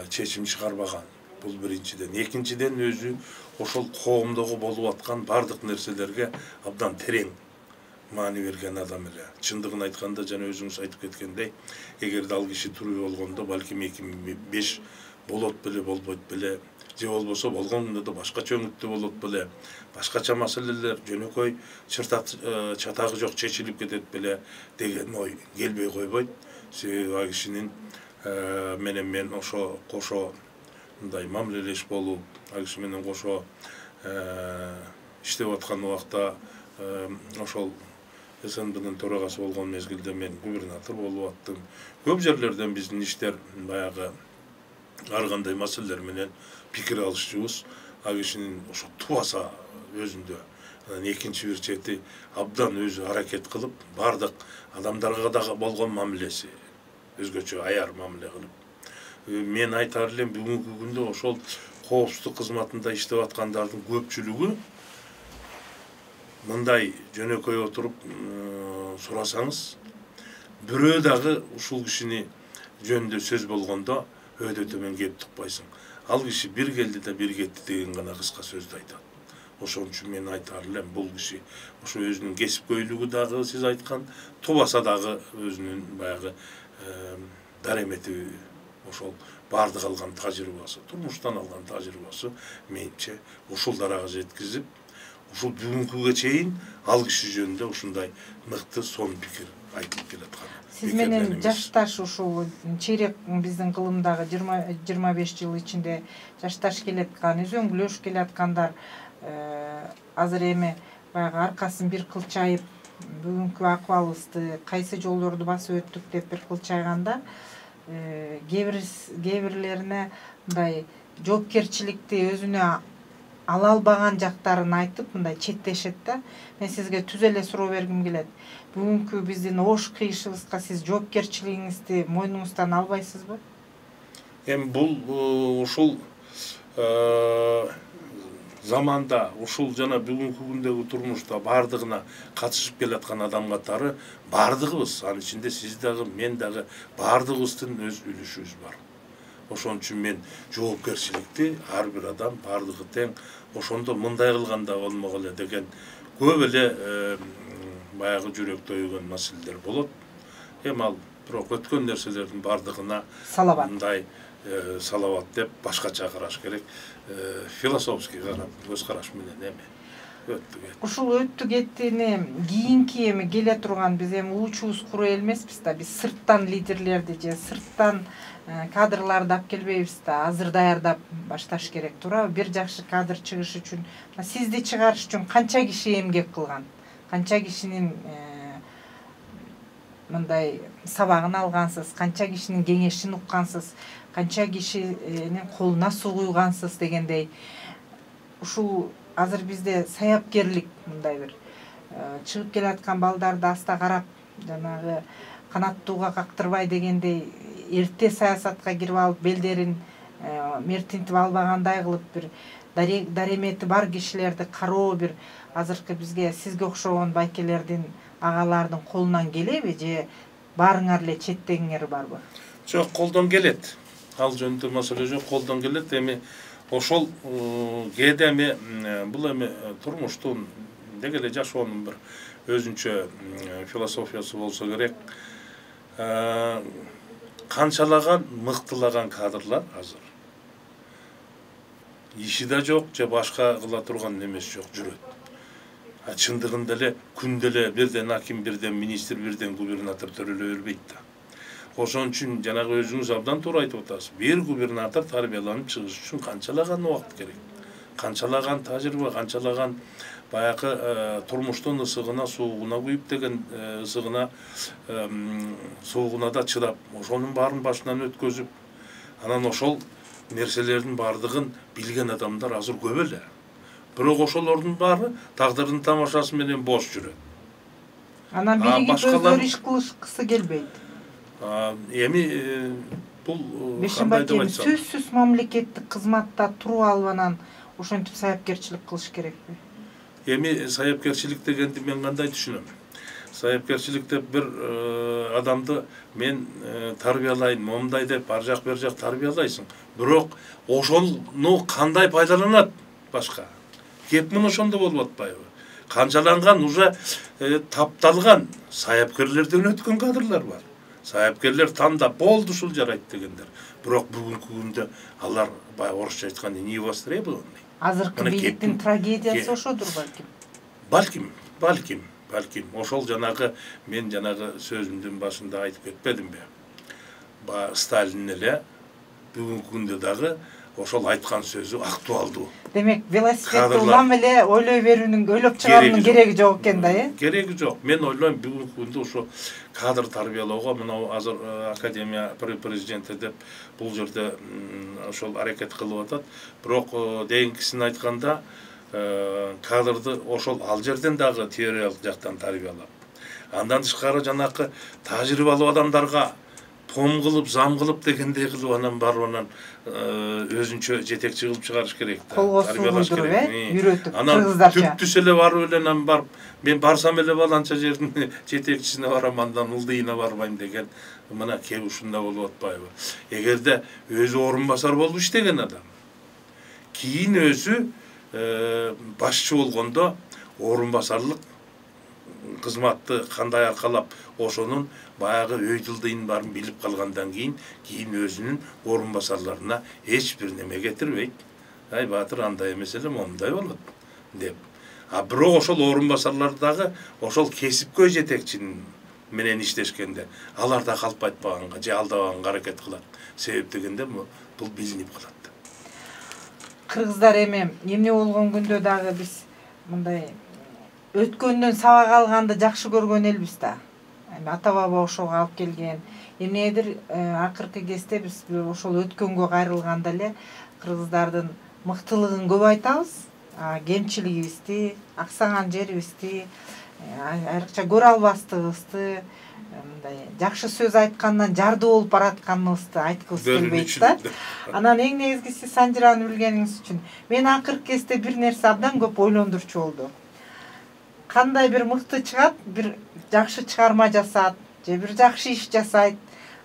чечим чыгарбаган. Бул биринчиден. Экинчиден өзү ошол коомдогу болуп аткан бардык нерселерге абдан терең маани берген адам эле. Чындыгын айтканда, жана өзүңүз айтып кеткендей, эгерде ал киши тирүү болгондо балким 2005 болот беле, болбойт беле, же болбосо болгондо да башкача өңүттө болот беле, башкача маселелер жөнөкөй чатагы жок чечилип кетет беле деген ой келбей койбойт. Себеби ал кишинин менен мен ошо кошо мындай мамилелеш болуп, ал киши менен кошо иштеп аткан убакта ошол СНБнын төрагасы болгон мезгилде мен губернатор болуп аттым. Көп жерлерден биздин иштер баягы ар кандай маселелер менен пикир алышчубуз. Ал кишинин ошо тубаса өзүндө. Экинчи бир чети абдан өзү аракет кылып, бардык адамдарга дагы болгон мамилеси өзгөчө аяр мамиле кылып. Мен айтаар элем, бүгүнкү күндө ошол коопсуздук кызматында иштеп аткандардын көпчүлүгү мындай жөнөкөй отуруп сурасаңыз, бирөө дагы ушул кишини жөнүндө сөз болгондо өйдө төмөн кеп тукпайсың. Ал киши бир келди да бир кетти деген гана кыска сөздү айтат. Ошон үчүн мен айтаар элем, бул киши ошо өзүнүн кесипкөйлүгү дагы сиз айткан, тубаса дагы өзүнүн баягы даремети, ошол бардык алган тажрыйбасы, турмуштан алган тажрыйбасы менимче ушул дарага жеткизип, ушул бүгүнкүгө чейин ал киши жөнүндө ушундай мыкты сонун пикир айтылып келаткан. Сиз менен жашташ ушул чейрек биздин кылымдагы 25 жыл ичинде жашташ келаткан, үзөңгүлөшүп келаткандар азыр эми баягы аркасын бир кылчайып, бүгүнкү акыбалыбызды кайсы жолдорду басып өттүк деп бир кылчайганда, кээ бирлерине мындай жоопкерчиликти өзүнө ала албаган жактарын айтып, мындай четтешет да. Мен сизге түз эле суроо бергим келет. Бүгүнкү биздин ош кыйышыбызга сиз жоопкерчилигиңизди мойнуңуздан албайсызбы? Эми бул ушул заманда ушул жана бүгүнкү күндөгү турмушта бардыгына катышып келаткан адам катары бардыгыбыз, анын ичинде сиз дагы, мен дагы бардыгыбыздын өз үлүшүбүз бар. Ошон үчүн мен жоопкерчиликти ар бир адам бардыгы тең, ошондо мындай кылганда болмок эле деген көп эле баягы жүрөктө өйгөн маселелер болот. Эми ал бирок өткөн нерселердин бардыгына салабат мындай салабат деп башкача караш керек. Философский карап, көз караш менен эми өттү кетти. Ушул өттү кеттини кийинки эми келе турган биз эми уучубуз куру эл эмеспиз да, биз сырттан лидерлерди же сырттан кадрларды алып келбейбиз да, азыр даярдап башташ керек, туурабы? Бир жакшы кадр чыгыш үчүн, сизди чыгарыш үчүн канча киши эмгек кылган, канча кишинин мындай сабагын алгансыз, канча кишинин кеңешин уккансыз, канча кишинин колуна суу куйгансыз дегендей. Ушул азыр бизде саяпкерлик мындай бир чыгып келаткан балдарды аста карап, жанагы канаттууга кактырбай дегендей, эрте саясатка кирип алып, белдерин мертинтип албагандай кылып, бир даремети бар кишилерди кароо, бир азыркы бизге сизге окшогон байкелердин, агалардын колунан келеби, же баарыңар эле четтегиңер барбы? Жок, колдон келет. Ал жөнүндө маселе жок, колдон келет. Эми ошол кээде эми бул эми турмуштун деги эле жашоонун бир өзүнчө философиясы болсо керек. Канчалаган мыктылаган кадрлар азыр иши да жок, же башка кыла турган немеси жок жүрөт. Чындыгында эле күндө эле бирден аким, бирден министр, бирден губернатор төрөлө бербейт да. Ошон үчүн жанагы өзүңүз абдан туура айтып атасыз. Бир губернатор тарбияланып чыгыш үчүн канчалаган убакыт керек, канчалаган тажрыйба, канчалаган баягы турмуштун ысыгына, суугуна күйүп деген ысыгына, суугуна да чыдап, ошонун баарын башынан өткөзүп, анан ошол нерселердин бардыгын билген адамдар азыр көп эле. Бирок ошолордун баары тагдырдын тамашасы менен бош жүрөт. Анан биригип өздөрү иш кылышкысы келбейт. Эми бул кандай деп айтсам, сөзсүз мамлекеттик кызматта туруп алып анан ошентип саяпкерчилик кылыш керекпи? Эми саяпкерчилик дегенди мен кандай түшүнөм? Саяпкерчилик деп бир адамды мен тарбиялайын, момундай деп ар жак бер жак тарбиялайсың. Бирок ошону кандай пайдаланат башка? Кеп мына ошондо болуп атпайбы? Канчаланган уже тапталган саяпкерлерден өткөн кадрлар бар. Саяпкерлер тандап болду ушул жарайт дегендер. Бирок бүгүнкү күндө алар баягы орусча айтканда не востребованный. Азыркы бийликтин трагедиясы ошодур балким. Балким. Ошол жанагы мен жанагы сөзүмдүн башында айтып кетпедимби? Сталин эле бүгүнкү күндө дагы ошол айткан сөзү актуалдуу. Демек, велосипедди улам эле ойлой берүүнүн, ойлоп чыгаруунун кереги жок экен да, Кереги жок. Мен ойлойм бүгүнкү күндө ошо кадр тарбиялоого мына азыр академия президенти деп бул жерде ошол аракет кылып атат. Бирок дейинкисин айтканда кадрды ошол ал жерден дагы теориялык жактан тарбиялап, андан тышкары жанакы тажрыйбалуу адамдарга пом кылып, зам кылып дегендей кылып анан барып анан өзүнчө жетекчи кылып чыгарыш керек да. Колго суу куйдуруп, үйрөтүп, кыргыздарча. Анан түптүс эле барып эле анан барып, мен барсам эле баланча жердин жетекчисине барам, андан ылдыйына барбайм деген мына кеп ушунда болуп атпайбы? Эгерде өзү орун басар болуп иштеген адам, кийин өзү башчы болгондо орун басарлык кызматты кандай аркалап, ошонун баягы өй жылдыйын баарын билип калгандан кийин өзүнүн орун басарларына эч бир неме кетирбейт. Ай баатыр андай эмес эле, момундай болот деп. Бирок ошол орун басарлар дагы ошол кесипкөй жетекчинин менен иштешкенде алар да калп айтпаганга же алдабаганга аракет кылат. Себеп дегенде бул билинип калат. Кыргыздар эми эмне болгон күндө дагы биз мындай өткөндөн сабак алганды жакшы көргөн элбиз да. Эми ата баба ошого алып келген. Эмнедир акыркы кезде биз ошол өткөнгө кайрылганда эле кыргыздардын мыктылыгын көп айтабыз, кемчилигибизди, аксаган жерибизди, айрыкча көрө албастыгыбызды, мындай жакшы сөз айткандан жарды болуп баратканыбызды айткыбыз келбейт да. Анан эң негизгиси Санжираны билгениңиз үчүн мен акыркы кезде бир нерсе абдан көп ойлондурчу болду. Кандай бир мыкты чыгат, бир жакшы чыгарма жасаат же бир жакшы иш жасайт.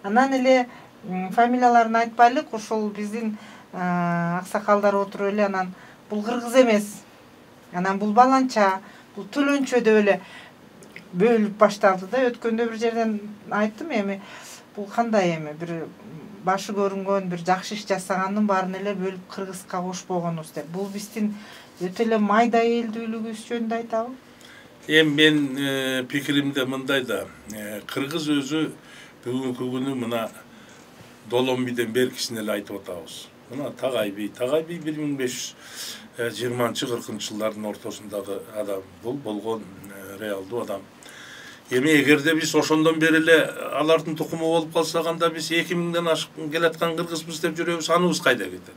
Анан эле фамилияларын айтпайлык, ошол биздин аксакалдар отуруп эле анан бул кыргыз эмес. Анан бул баланча, бул төлөнчө деп эле бөлүп башталды да. Өткөндө бир жерден айттым, эми бул кандай эми бир башы көрүнгөн бир жакшы иш жасагандын баарын эле бөлүп кыргызга кошпогонубуз деп. Бул биздин өтө эле майда элдүүлүгүбүз жөнүндө айтабы? Эми мен пикиримде мындай да, кыргыз өзү бүгүнкү күнү мына Доломбийден беркисин эле айтып атабыз. Мына Tagay би 1520-40 жылдардын ортосундагы адам, бул болгон реалдуу адам. Эми эгерде биз ошондон бери эле алардын тукуму болуп калсак, анда биз 2000ден ашып келаткан кыргызбыз деп жүрөбүз, аныбыз кайда кетет?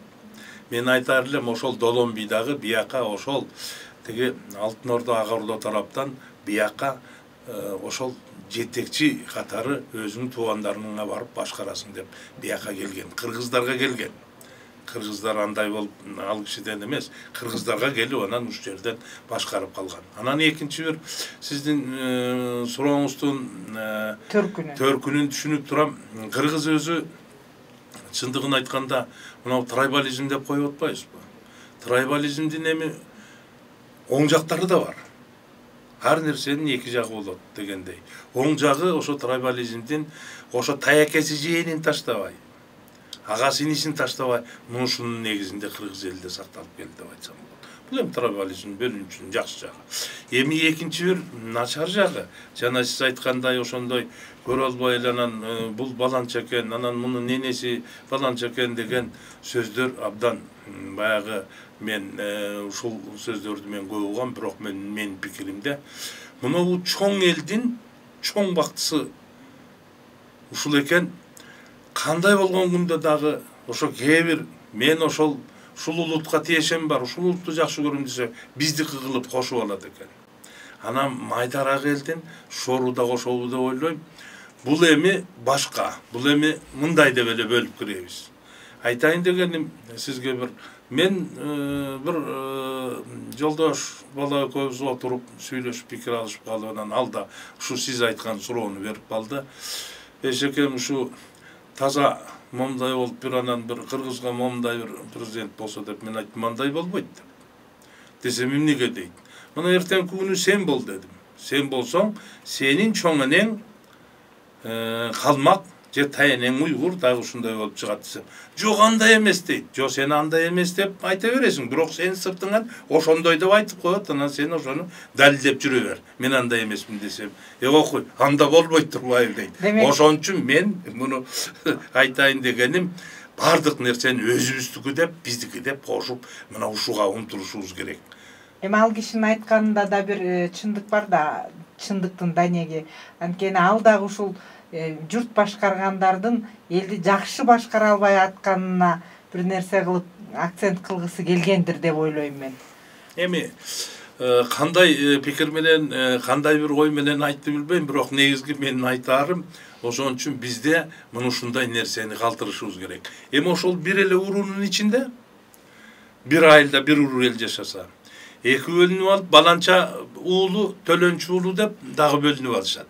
Мен айтар элем, ошол Доломбийдагы бияка ошол тиги Алтын Ордо Ак Ордо тараптан бияка ошол жетекчи катары өзүнүн туугандарына барып башкарасың деп бияка келген, кыргыздарга келген. Кыргыздар андай болуп ал кишиден эмес, кыргыздарга келип анан ушул жерден башкарып калган. Анан экинчи бир сиздин сурооңуздун төркүнүн түшүнүп турам. Кыргыз өзү чындыгын айтканда мына трайбализм деп коюп атпайбызбы? Трайбализмдин эми оң жактары да бар. Ар нерсенин эки жагы болот дегендей. Оң жагы ошо трайбализмдин ошо таякеси жээнин таштабай, ага синисин таштабай, мушунун негизинде кыргыз элде сакталып келди деп айтсам болот. Бул эми трайбализм бөлүнчүнүн жакшы жагы. Эми экинчи бир начар жагы, жана сиз айткандай ошондой көрө албай эле анан бул баланча экен, анан мунун ненеси баланча экен деген сөздөр абдан баягы мен ушул сөздөрдү мен көп угам, бирок менин пикиримде мына чоң элдин чоң бактысы ушул экен. Кандай болгон күндө дагы ошо кээ бир мен ушул улутка тиешем бар, ушул улутту жакшы көрөм десе, биздики кылып кошуп алат экен. Анан майдараак элдин шору да кошобу деп ойлойм. Бул эми башка, бул эми мындай деп эле бөлүп киребиз. Айтайын дегеним сизге мен бир жолдош бала экөөбүз отуруп сүйлөшүп пикир алышып калып, анан ал да ушу сиз айткан суроону берип калды. Эшекем ушу таза момундай болуп анан бир кыргызга момундай бир президент болсо деп мен айттым, андай болбойт деп. Десем эмнеге дейт. Мына эртеңки күнү сен бол дедим. Сен болсоң, сенин чоң энең калмак же таянең уйгур дагы ушундай болуп чыгат десем, жок андай эмес дейт. Жок, сен андай эмес деп айта бересиң, бирок сен сыртыңан ошондой деп айтып коет, анан сен ошону далилдеп жүрө бер. Мен андай эмесмин десем, окуй, анда болбойт турбайбы дейт. Ошон үчүн мен муну айтайын дегеним, бардык нерсени өзүбүздүкү деп, биздики деп кошуп, мына ушуга умтулушубуз керек. Эми ал кишинин айтканында да бир чындык бар да, чындыктын данеги. Анткени ал дагы ушул журт башкаргандардын элди жакшы башкара албай атканына бир нерсе кылып акцент кылгысы келгендир деп ойлойм мен. Эми кандай пикир менен, кандай бир ой менен айтты билбейм, бирок негизги менин айтаарым, ошон үчүн бизде мына ушундай нерсени калтырышыбыз керек. Эми ошол бир эле уруунун ичинде бир айылда бир уруу эл жашаса, эки бөлүнүп алып, баланча уулу, төлөнчү уулу деп дагы бөлүнүп алышат.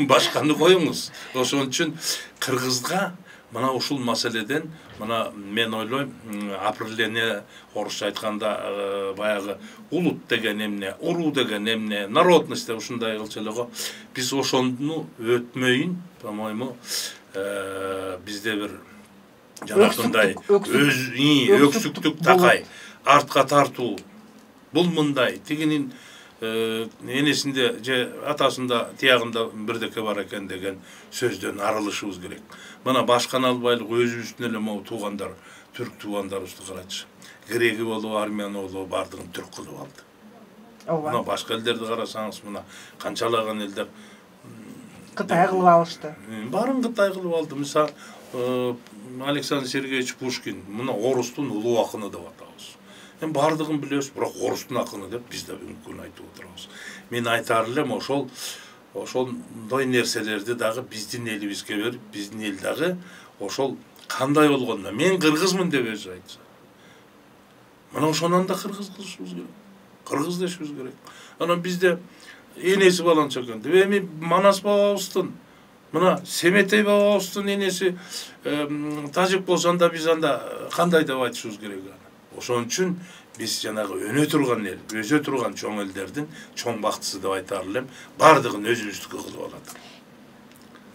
Башканы коюңуз. Ошон үчүн кыргызга мына ушул маселеден мына мен ойлойм, определение орусча айтканда баягы улут деген эмне, уруу деген эмне, народность деп ушундай кылчу эле го. Биз ошону өтмөйүн, по-моему, бизде бир жанагындай өксүктүк такай, артка тартуу. Бул мындай, тигинин энесинде же атасында тиягында бирдеке бар экен деген сөздөн арылышыбыз керек. Мына башканы албайлык өзүбүздүн эле могу туугандар, түрк туугандарыбызды карачы. Греки болобу, армяны болобу бардыгын түрк кылып алды. Мына башка элдерди карасаңыз, мына канчалаган элдер Кытай кылып алышты. Баарын Кытай кылып алды. Мисалы, Александр Сергеевич Пушкин, мына орустун улуу акыны деп атабыз. Бардыгын билебиз, бирок орустун акыны деп биз да бүгүнкү күнү айтып отурабыз. Мен айтар элем, ошол ошондой нерселерди дагы биздин элибизге берип, биздин эл дагы ошол кандай болгондо мен кыргызмын деп өзү айтса. Мына ошонон да кыргыз кылышыбыз керек. Кыргыз дешибиз керек. Анан бизде энеси баланча экен деп эми Манас бабабыздын, мына Семетей бабабыздын энеси тажик болсо анда биз анда кандай деп айтышыбыз керек аны. Ошон үчүн биз жанагы өнө турган эл, өсө турган чоң элдердин чоң бактысы деп айтар элем. Бардыгын өзүбүздүкү кылып алат.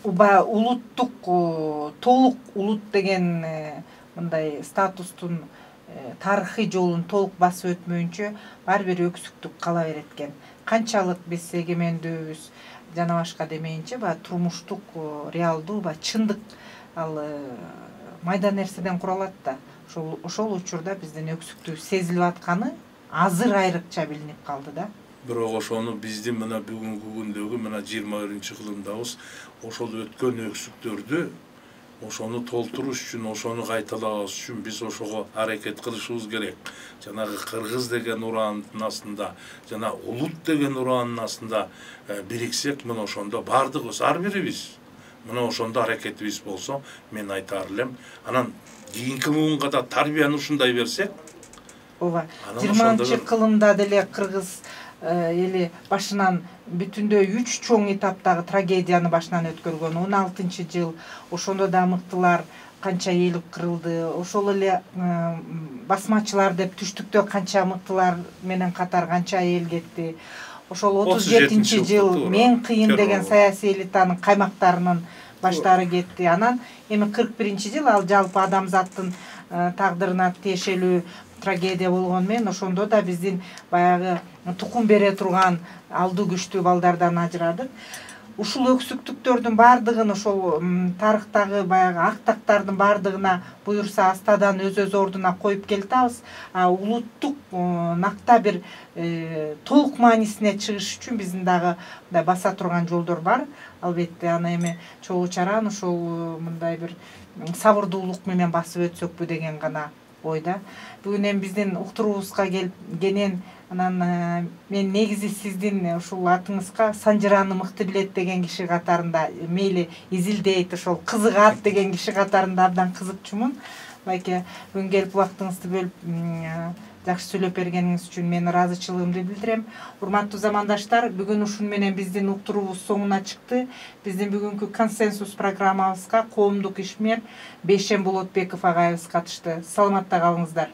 Уба улуттук толук улут деген мындай статустун тарыхый жолун толук басып өтмөйүнчө ар бир өксүктүк кала берет экен. Канчалык биз эгемендүүбүз жана башка демейинче турмуштук реалдуу чындык ал майда нерседен куралат да. Ошол учурда биздин өксүктүү сезилип атканы азыр айрыкча билинип калды да. Бирок ошону биздин мына бүгүнкү күндөгү мына 21-кылымдабыз ошол өткөн өксүктөрдү ошону толтуруш үчүн, ошону кайталабаш үчүн биз ошого аракет кылышыбыз керек. Жанагы кыргыз деген ураандын астында, жана улут деген ураандын астында бириксек, мына ошондо бардыгыбыз, ар бирибиз мына ошондо аракетибиз болсо, мен айтар элем. Анан кийинки муунга да тарбияны ушундай берсек, ооба, 20-кылымда деле кыргыз эли башынан бүтүндөй 3 чоң этаптагы трагедияны башынан өткөргөн. 16-жыл ошондо да мыктылар канча эл кырылды. Ошол эле басмачылар деп түштүктө канча мыктылар менен катар канча эл кетти. Ошол 37-жыл мен кыйын деген саясий элитанын каймактарынын баштары кетти. Анан эми 41-жыл ал жалпы адамзаттын тагдырына тиешелүү трагедия болгон менен ошондо да биздин баягы тукум бере турган алдуу күчтүү балдардан ажырадык. Ушул өксүктүктөрдүн бардыгын ошол тарыхтагы баягы актактардын бардыгына буюрса астадан өз ордуна коюп келатабыз. Улуттук накта бир толук маанисине чыгыш үчүн биздин дагы баса турган жолдор бар. Албетте аны эми чогуу чаран ошол мындай бир сабырдуулук менен басып өтсөкпү деген гана ойда. Бүгүн эми биздин уктуруубузга келген анан мен негизи сиздин ушул атыңызга Санжираны мыкты билет деген киши катарында, мейли изилдейт, ошол кызыгат деген киши катарында абдан кызыкчумун. Байке бүгүн келип убактыңызды бөлүп жакшы сүйлөп бергениңиз үчүн мен ыраазычылыгымды билдирем. Урматтуу замандаштар, бүгүн ушун менен биздин уктуруубуз соңуна чыкты. Биздин бүгүнкү консенсус программабызга коомдук ишмер Бейшен Болотбеков агайыбыз катышты. Саламатта калыңыздар.